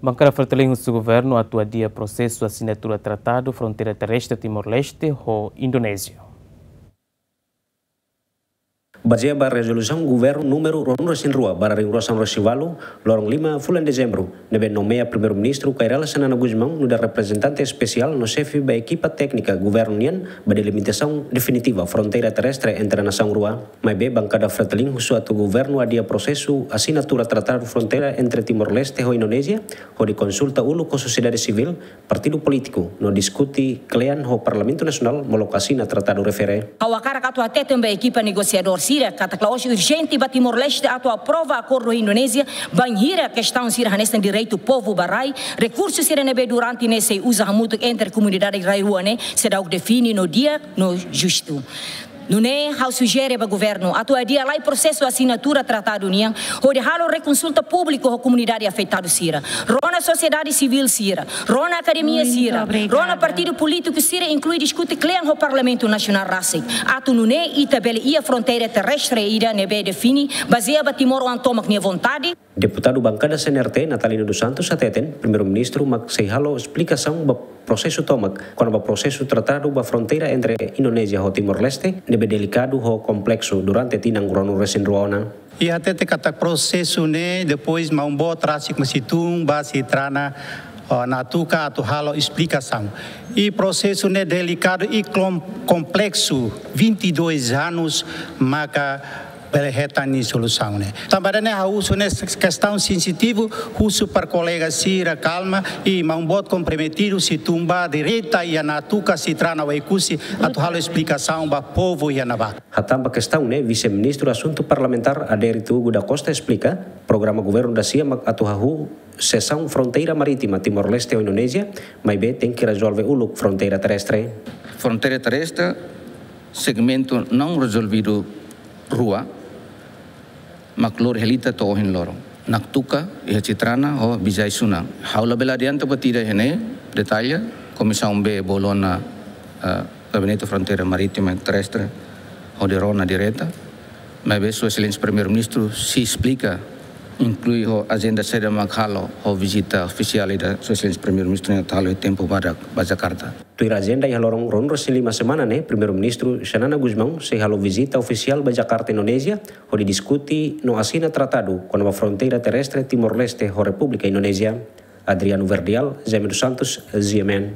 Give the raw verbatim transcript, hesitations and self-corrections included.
Bankada Fretilin husu governu atu adia prosesu asinatura tratadu fronteira terrestre Timor-Leste ho Indonézia. Bazeia ba rezolusaun governu númeru ruanulu-resin-rua barra ruanulu-resin-ualu, loron lima fulan Dezembru, ne'ebé nomeia Primeiru-Ministru Kay Rala Xanana Gusmão nu'udar reprezentante espesiál no xefe ba ekipa téknika governu nian ba delimitasaun definitiva fronteira terrestre entre nasaun rua. Maibé bankada Fretilin husu atu governu adia prosesu asinatura tratadu fronteira entre Timor-Leste ho Indonézia, hodi konsulta uluk ho sosiedade sivíl, partidu polítiku, no diskuti kle'an ho Parlamentu Nasionál molok asina tratadu refere. Ha'u hakarak atu hateten ba ekipa negosiadór sira katak la'ós urjente ba Timor-Leste atu aprova akordu ho Indonézia, bainhira kestaun sira hanesan direitu povu ba rai, rekursu sira ne'ebé durante ne'e sei uza hamutuk entre komunidade rai rua ne'e seidauk define no di'ak no justu. Nune'e ha'u sujere ba governu atu adia lai prosesu asinatura tratadu nian, hodi halo rekonsulta públiku ho komunidade afetadu sira. Rona sosiedade sivíl sira, rona akademia sira, rona partidu polítiku sira, inklui diskuti kle'an ho Parlamentu Nasionál rasik. Atu nune'e ita bele iha fronteira terrestre ida ne'ebé define, bazeia ba timoroan tomak nia vontade. Deputadu bankada C N R T, Natalino dos Santos, hateten, Primeiru-Ministru mak sei halo esplikasaun ba prosesu tomak, kona-ba prosesu tratadu ba fronteira entre Indonézia ho Timor-Leste, ne'ebé delikadu ho kompleksu durante tinan ruanulu-resin-rua ona. I hatete katak prosesu ne'e, depois maun-boot rasik mak sei tun ba Citrana, oh, Natuca atu halo esplikasaun. I prosesu ne'e delikadu i klom-, kompleksu, vinte e dois anos maka bele hetan nia solusaun ne'e. Tanba ne'e ha'u husu ne'e kestaun sensitivu, husu para kolega sira kalma, i maun-boot komprometidu sei tun ba direta iha Natuca, Citrana, Oekusi, atu halo esplikasaun ba povu iha ne'ebá. Hatán ba kestaun ne'e, Vise-Ministru Asuntu Parlamentár Adérito Hugo da Costa esplika, programa governu dasia mak atu hahú sesaun fronteira marítima Timor-Leste ho Indonézia, maibé tenke rezolve uluk fronteira terrestre. Fronteira terrestre, segmentu não resolvido rua, mak lori hela ita to'o ohin loron. Natuca, iha Citrana, ho Bijai Sunan. Ha'u labele adianta buat ida iha ne'e, detalle, Komisaun B bolu ona, eh, Gabinete Fronteira Marítima e Terrestre, hodi rona direta. Maibé Sua Exelénsia Primeiru-Ministru sei esplika, inklui ho ajenda saida mak halo, ho vizita ofisiál ida Sua Exelénsia Primeiru-Ministru nia atu halo iha tempu badak ba Jakarta. Tuir ajenda iha loron ruanulu-resin-lima semana ne'e, Primeiru-Ministru Xanana Gusmão sei halo vizita ofisiál ba Jakarta, Indonézia, hodi diskuti no asina tratadu kona-ba fronteira terrestre Timor-Leste ho Repúblika Indonézia. Adriano Verdial, Jaime dos Santos, G M N.